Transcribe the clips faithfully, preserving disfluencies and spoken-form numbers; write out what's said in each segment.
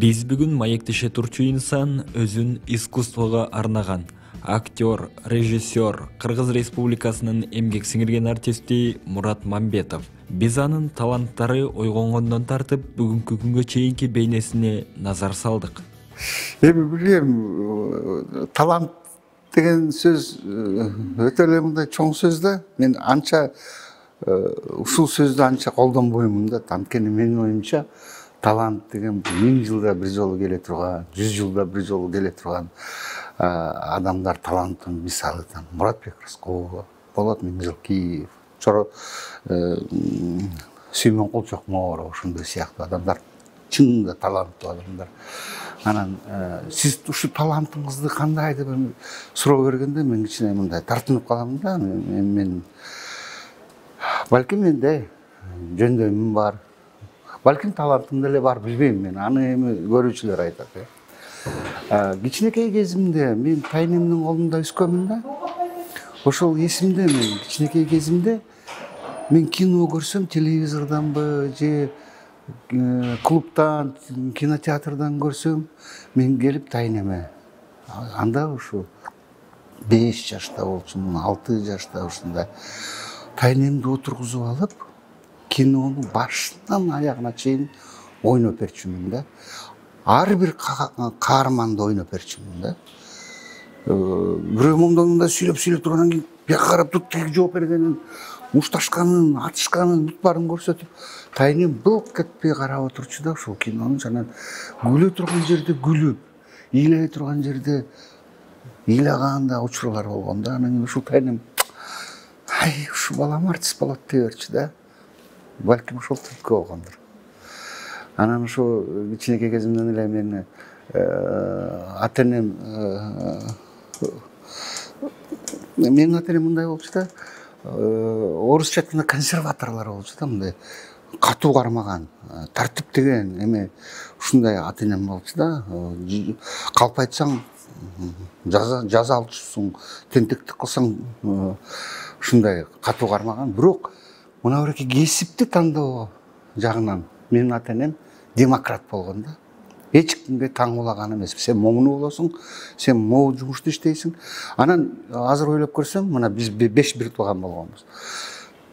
Биз бүгүн маектеше турчу инсан өзүн искусствого арнаган актер, режиссер, Кыргыз Республикасынын эмгек сиңирген артисти Мурат Мамбетов. Биз анын таланттары ойгонгондон тартып бүгүнкү күнгө чейинки бейнесине назар салдык. Эми билем, талант деген сөз өтө эле мындай чоң сөз да. Мен анча ушул сөздү анча колдонбоймун да. Анткени менин оюмча талант деген миң жылда бир жолу келе турган, жүз жылда бир жолу келе турган адамдар таланттын мисалы. Муратбек Рыскулов, Болот Миңжылкиев, Чоро Сүймөнкул Чокморов, ошондой сыяктуу адамдар чынында таланттуу адамдар. Анан сиз ушу талантыңызды кандай деп суроо бергенде мен кичине мындай тартынып калам да. Мен балким менде жөндөмүм бар. Балким талантым деле бар, билбейм мен. Аны эми көрүүчүлөр айтат. Кичинекей кезимде мен тайнемдин колунда өскөнмүн да. Ошол эсимде мен кичинекей кезимде мен кино көрсөм телевизордонбу же клубтан, кинотеатрдан көрсөм, мен келип тайнеме. Анда ушу беш жашта болчумун, алты жашта ушундай тайнемди отургузуп алып, кинонун башынан аягына чейин ойноп берчүмүн да. Ар бир каарманды ойноп берчүмүн да. Бирөө момдонунда сүйлөп-сүйлөп тургандан кийин бияка карап туруп тиги жооп бергенин, мушташканын, атышканын, бүт баарын көрсөтүп, тайнем былк этпей карап отурчу да ушул кинону. Анан күлө турган жерде күлүп, ыйлай турган жерде ыйлаган да учурлар болгон да. Анан ушул тайнем ай, ушу балам артист болот дей берчү да. Балким ошол түрткү болгондур. Анан ошо кичинекей кезимден эле мен ата-энем менин ата-энем мындай болчу да. Орусча айтканда консерваторлор болчу да, мындай катуу кармаган, тартиптеген эме ушундай ата-энем болчу да. Калп айтсаң жаза алчусуң, тентектик кылсаң ушундай катуу кармаган. Бирок мына бирки кесипти тандоо жагынан менин ата-энем демократ болгон да. Эч кимге таңуулаган эмес. Сен моуну болосуң, сен могу жумушту иштейсиң. Анан азыр ойлоп көрсөм, мына биз беш бир тууган болгонбуз.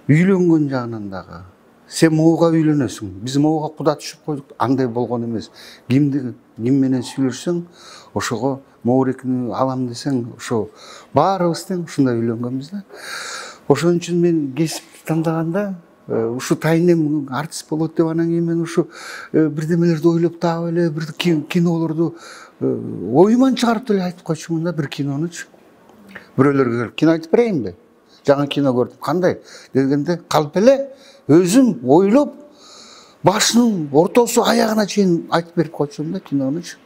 Үйлөнгөн жагынан дагы сен могуга үйлөнөсүң. Биз могуга куда түшүп койдук, андай болгон эмес. Кимди ким менен сүйлөшсөң, ошого моурекини алам десең, ошо баарыбыз тең ушундай үйлөнгөнбүз да. Ошон үчүн мен кесипти тандаганда ушу тайнем артист болот деп, анан кийин мен ушу бирдемелерди ойлоп таап эле, бир кинолорду оюман чыгарып деле айтып койчумун да, бир кинонучу. Бирөөлөр келип, кино айтып берейинби? Жаңы кино көрдүм, кандай дегенде калп эле өзүм ойлоп, башынын ортосу аягына чейин айтып берип койчумун да кинонучу.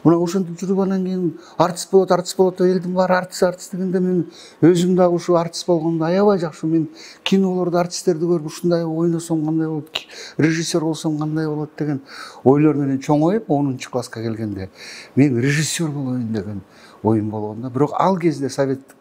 Мына ошентип жүрүп анан кийин артист болот, артист болот деп элдин баары артист, артист дегенде мен өзүм дагы ушу артист болгондо аябай жакшы. Мен кинолордо артисттерди көрүп ушундай ойносом кандай болот, режиссер болсом кандай болот деген ойлор менен чоңоюп, онунчу класска келгенде мен режиссер болоюн деген оюм болгон да. Бирок ал кезде, советтик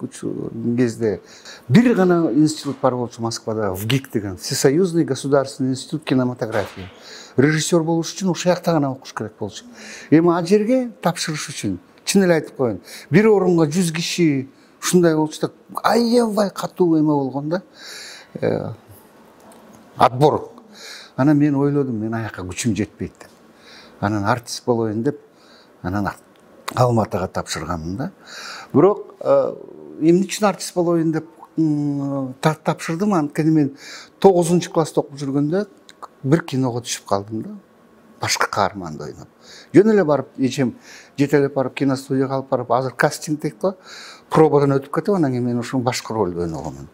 кезде бир гана институт бар болчу Москвада, ВГИК деген, Всесоюзный государственный институт кинематографии. Режиссер болуш үчүн ушул жакта гана окуш керек болчу. Эми ал жерге тапшырыш үчүн чын эле айтып коеюн, бир орунга жүз киши ушундай болчу да, аябай катуу эме болгон да. Отбор. Анан мен ойлодум, мен аяка күчүм жетпейт деп. Анан артист болоюн деп, анан Алматыга тапшырганмын да. Бирок эмне үчүн артист болоюн деп тапшырдым, анткени мен тогузунчу класста окуп жүргөндө бир киного түшүп калдым да. Башкы каарманды ойноп. Жөн эле барып, эчем жетелеп барып киностудияга алып барып, азыр кастинг дейт го, пробадан өтүп кетип, анан кийин мен ошол башкы ролду ойногонмун.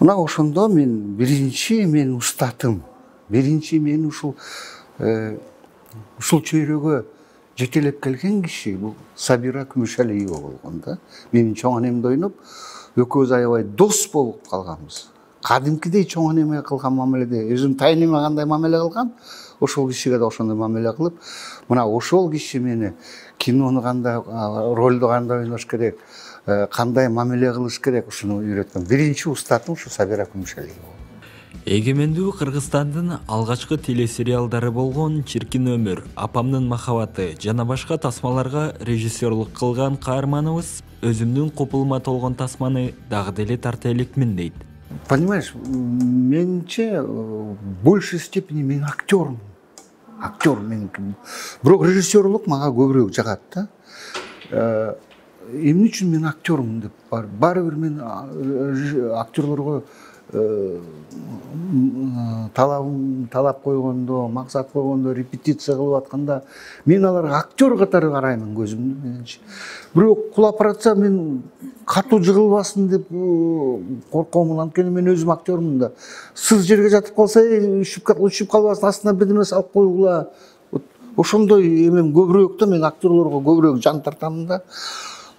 Мына ошондо мен биринчи мен устатым, биринчи мен ушул ушул чөйрөгө жетелеп келген киши бул Сабира Күмүшалиева болгон да. Менин чоң анемди ойноп, экөөбүз аябай дос болуп калганбыз. Кадимкидей чоң анеме кылган мамиледе, өзүм тайнеме кандай мамиле кылгам, ошол кишиге да ошондой мамиле кылып, мына ошол киши мени кинону кандай, ролду кандай ойнош керек, кандай мамиле кылыш керек, ушуну үйрөткөн. Биринчи устатым ушу Сабира Күмүшалиева. Эгемендүү Кыргызстандын алгачкы телесериалдары болгон «Чиркин өмүр», «Апамдын махабаты» жана башка тасмаларга режиссерлук кылган каарманыбыз өзүмдүн купулума толгон тасманы дагы деле тарта элекмин дейт. Понимаешь, менимче в большей степени мен актермун. Актер мен. Бирок режиссерлук мага көбүрөөк жагат да. Эмне үчүн мен актермун деп бар. Баары бир мен актерлорго талабым талап койгондо, максат койгондо, репетиция кылып атканда мен аларга актер катары караймын көзүмдү мененчи. Бирок кулап баратса мен катуу жыгылбасын деп коркомун. Анткени мен өзүм актермун да. Сыз жерге жатып калса, учуп калбасын, астына бирдеме салып койгула. Ошондой эмем көбүрөөк да, мен актерлорго көбүрөөк жан тартамын да.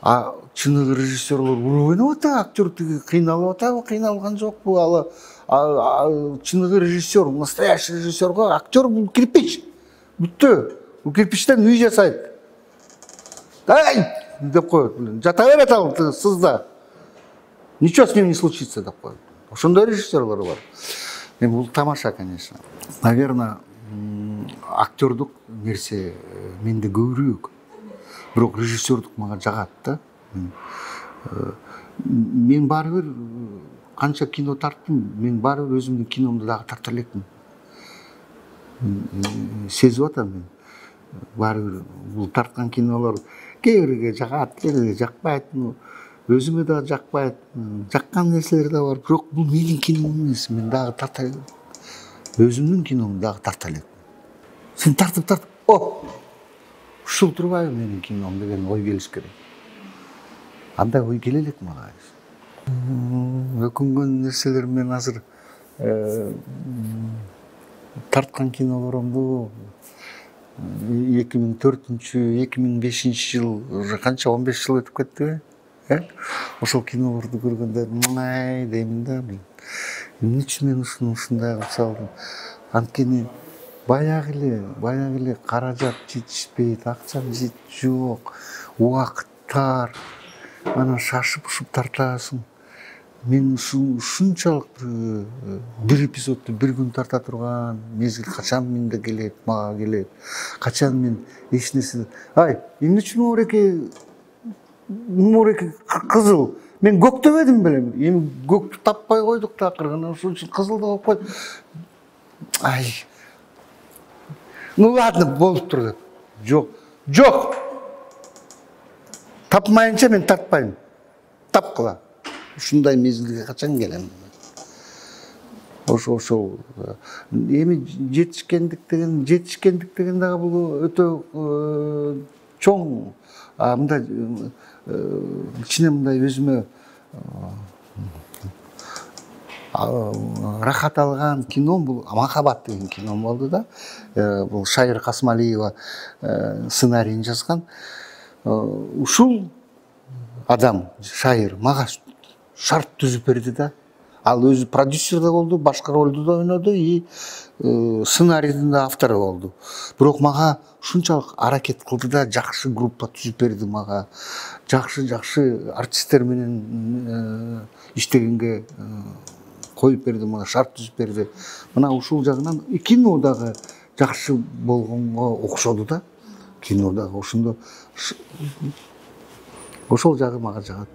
А чыныгы режиссерлор уруп ойноп атат, актер тиги кыйналып атабы, кыйналган жокпу? Ал чыныгы режиссер, настоящий режиссерго актер бул кирпич. Бүттү. Бул кирпичтен үй жасайт. Ай! деп коет. Жата берет ал сызда. Ничего с ним не случится деп коет. Ошондой режиссерлор бар. Эми бул тамаша, конечно. Наверное, актердук нерсе менде көбүрөөк. Бирок режиссердук мага жагат да. Мен баары бир канча кино тарттым, мен баары бир өзүмдүн киномду дагы тарта элекмин. Сезип атам мен. Баары бир бул тарткан кинолор кээ бирге жагат, кээ бирге жакпайт. Өзүмө дагы жакпайт. Жаккан нерселер да бар. Бирок бул менин кином эмес, мен дагы тарта элекмин. Өзүмдүн киномду дагы тарта элекмин. Сен тартып тартып, о! Ушул турбайбы менин кином деген ой келиш керек. Андай ой келе элек мага. Өкүнгөн нерселер мен азыр тарткан кинолорумду эки миң төртүнчү эки миң бешинчи жыл, уже канча он беш жыл өтүп кеттиби? Ошол кинолорду көргөндө май деймин да. Эмне үчүн мен ушундай кылып салдым? Анткени баягы эле, баягы эле каражат жетишпейт, акчам жок, убакыттар, анан шашып-ушуп тартасың. Мен ушунчалык бир эпизодду бир күн тарта турган мезгил качан менде келет, мага келет. Качан мен эч нерсе, ай, эмне үчүн моореке моореке кызыл? Мен көктөбөдүм беле. Эми көктү таппай койдук да акыры. Ошон үчүн кызылды коюп койдук. Ай. Ну ладно, болуп тур деп. Жок, жок. Тапмайынча мен тартпайм. Тапкыла. Ушундай мезгилге качан келем? Ошо ошол эми жетишкендик деген, жетишкендик деген дагы бул өтө чоң, мындай кичине мындай өзүмө рахат алган кином бул «Махаббат» деген кином болду да. Бул Шайыр Касмалиева сценарийин жазган. Ушул адам, Шайыр, мага шарт түзүп берди да. Ал өзү продюсер да болду, башка ролду да ойноду и сценарийдин да автору болду. Бирок мага ушунчалык аракет кылды да, жакшы группа түзүп берди мага. Жакшы-жакшы артисттер менен иштегенге коюп берди мага, шарт түзүп берди. Мына ушул жагынан кино дагы жакшы болгонго окшоду да. Кино дагы ошондо ошол жагы мага жагат.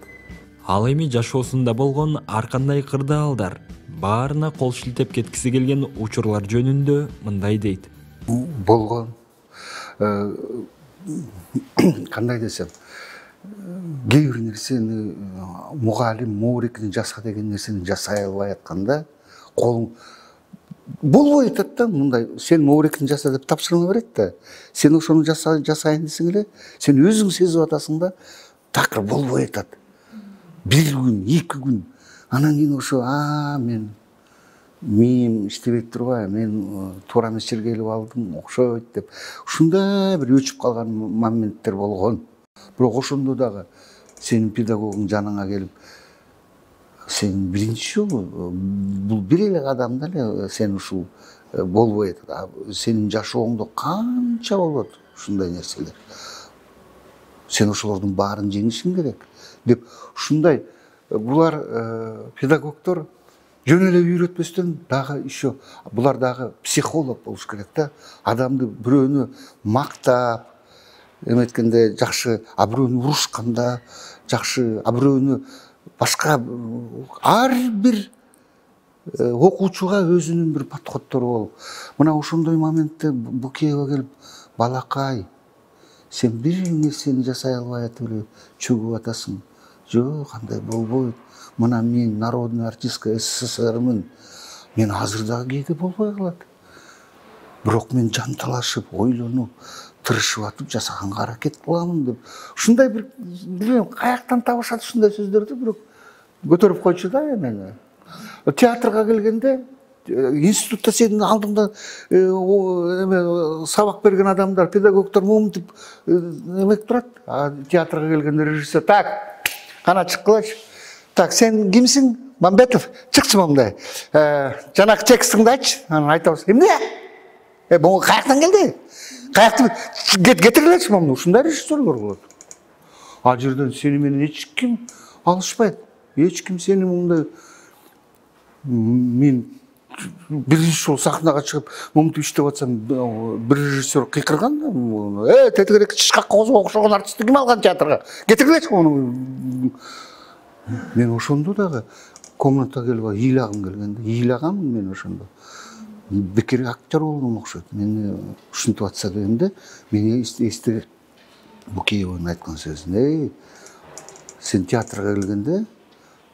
Ал эми жашоосунда болгон ар кандай кырдаалдар, баарына кол шилтеп кеткиси келген учурлар жөнүндө мындай дейт. Болгон. Кандай десем, кээ бир нерсени мугалим моорекени жаса деген нерсени жасай албай атканда колуң болбой атат да. Мындай сен моорекени жаса деп тапшырма берет да. Сен ошону жасайын десең эле, сен өзүң сезип атасың да, такыр болбой атат. Бир күн, эки күн. Анан кийин ошо, а мен миим иштебей турбайбы, мен туура эмес жерге келип алдым, окшойт деп. Ушундай бир өчүп калган моменттер болгон. Бирок ошондо дагы сенин педагогуң жаныңа келип, сен биринчи жолу бул бир эле кадамда эле сен ушул болбой атат. Сенин жашооңдо канча болот ушундай нерселер. Сен ошолордун баарын жеңишиң керек деп ушундай булар педагогдор жөн эле үйрөтпөстөн дагы еще булар дагы психолог болуш керек да. Адамды бирөөнү мактап эметкенде жакшы, а бирөөнү урушканда жакшы, а бирөөнү башка ар бир окуучуга өзүнүн бир подходдору болуп, мына ошондой моментте Букеева келип, балакай, сен бир нерсени жасай албай атып эле чөгүп атасың. Жок, андай болбойт. Мына мен народный артистка СССРмин. Мен азыр дагы кээде болбой калат. Бирок мен жанталашып, ойлонуп, тырышып атып жасаганга аракет кыламын деп. Ушундай бир билбейм, каяктан табышат ушундай сөздөрдү, бирок көтөрүп койчу да мени. Театрга келгенде институтта сенин алдыңда эме сабак берген адамдар, педагогдор момунтип эмек турат. А театрга келгенде режиссер: "Так, кана чыккылачы. Так, сен кимсиң? Мамбетов, чыкчы мындай. Жанагы текстиңди айтчы." Анан айтабыз: "Эмне? Э, бул каяктан келди? Каякты кетиргилечи муну." Ушундай режиссерлор болот. Ал жерден сени менен эч ким алышпайт. Эч ким сени мындай мен биринчи жолу сахнага чыгып момунтип иштеп атсам, бир режиссер кыйкырган да: "Э, тетигерек чычкакка окшогон артистти ким алган театрга? Кетиргилечи муну." Мен ошондо дагы комнатага келип ыйлагым келгенде, ыйлаганмын мен ошондо. Бекер актер болдум окшойт. Мени ушинтип атса дегенде, мен эсте Букееванын айткан сөзүн: "Эй, сен театрга келгенде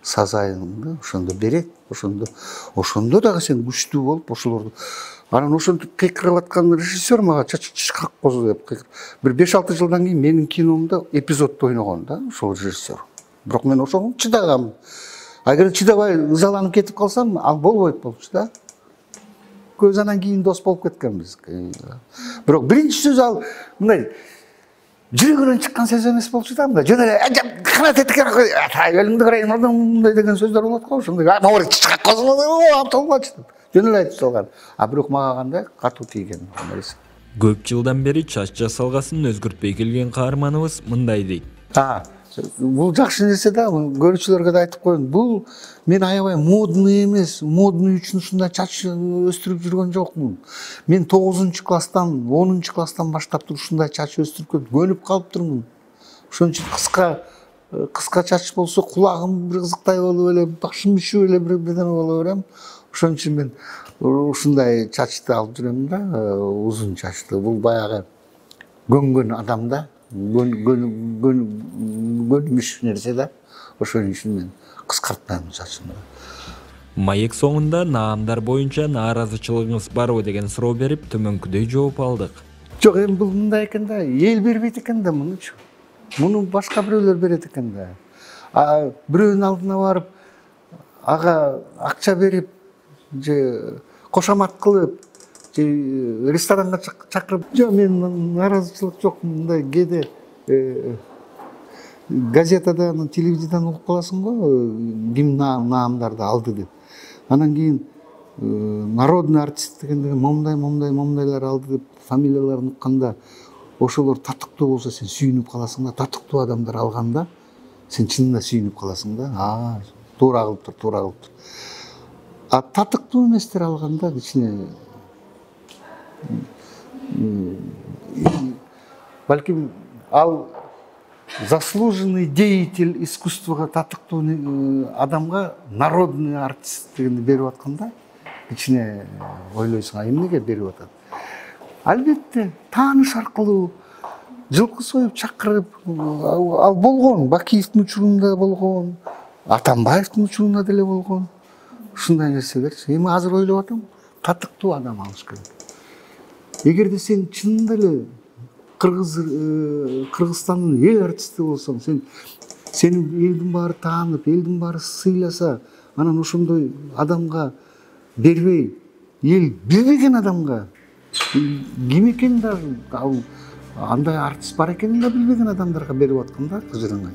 сазайыңды ошондо берет, ошондо ошондо дагы сен күчтүү болуп ошолорду." Анан ошентип кыйкырып аткан режиссер мага чачкак козу деп кыйкырып. Бир беш алты жылдан кийин менин киномдо эпизоддо ойногон да ошол режиссер. Бирок мен ошого чыдагам. Агер чыдабай ызаланып кетип калсам, ал болбойт болчу да. Көз анан кийин дос болуп кеткенбиз. Бирок биринчи сөз ал мындай жүрөгүнөн чыккан сөз эмес болчу да, мындай жөн эле кана тетикер өлүңдү карайын мындай деген сөздөр болот го, ошондой. Могу чычкак козу апталбачы деп жөн эле айтып салган. А бирок мага кандай катуу тийген нерсе. Көп жылдан бери чач жасалгасын өзгөртпөй келген каарманыбыз мындай дейт. А, бул жакшы нерсе да, көрүүчүлөргө да айтып коеюн. Бул мен аябай модный эмес, модный үчүн ушундай чач өстүрүп жүргөн жокмун. Мен тогузунчу класстан, онунчу класстан баштап ушундай чач өстүрүп көнүп калыптырмын. Ошон үчүн кыска кыска чач болсо кулагым бир кызыктай болуп эле, башым үшүп эле бир бирдеме боло берем. Ошон үчүн мен ушундай чачты алып жүрөм да, узун чачты. Бул баягы көнгөн адамда көнүмүш нерсе да. Ошон үчүн мен кыскартпайм чачымды. Маек соңунда наамдар боюнча нааразычылыгыңыз барбы деген суроо берип, төмөнкүдөй жооп алдык. Жок, эми бул мындай экен да, эл бербейт экен да мунучу. Муну башка бирөөлөр берет экен да. А бирөөнүн алдына барып, ага акча берип, же кошомат кылып, же ресторанга чакырып, жок, мен нааразычылык жок. Мындай кээде газетадан, телевизиядан угуп каласың го, ким наамдарды алды деп. Анан кийин народный артист дегенде момундай, момундай, момундайлар алды деп фамилияларын укканда, ошолор татыктуу болсо сен сүйүнүп каласың да, татыктуу адамдар алганда сен чынында сүйүнүп каласың да. А, туура кылыптыр, туура кылыптыр. А татыктуу эместер алганда кичине балким ал заслуженный деятель искусствого татыктуу адамга народный артист дегенди берип атканда кичине ойлойсуң, а эмнеге берип атат? Албетте, тааныш аркылуу жылкы союп чакырып, ал болгон, Бакиевдин учурунда болгон, Атамбаевдин учурунда деле болгон. Ушундай нерселерчи. Эми азыр ойлоп атам, татыктуу адам алыш керек. Эгерде сен чынында эле Кыргыз Кыргызстандын эл артисти болсоң, сен сени элдин баары таанып, элдин баары сыйласа, анан ошондой адамга бербей, эл билбеген адамга ким экенин да, ал андай артист бар экенин да билбеген адамдарга берип атканда кыжырыңай.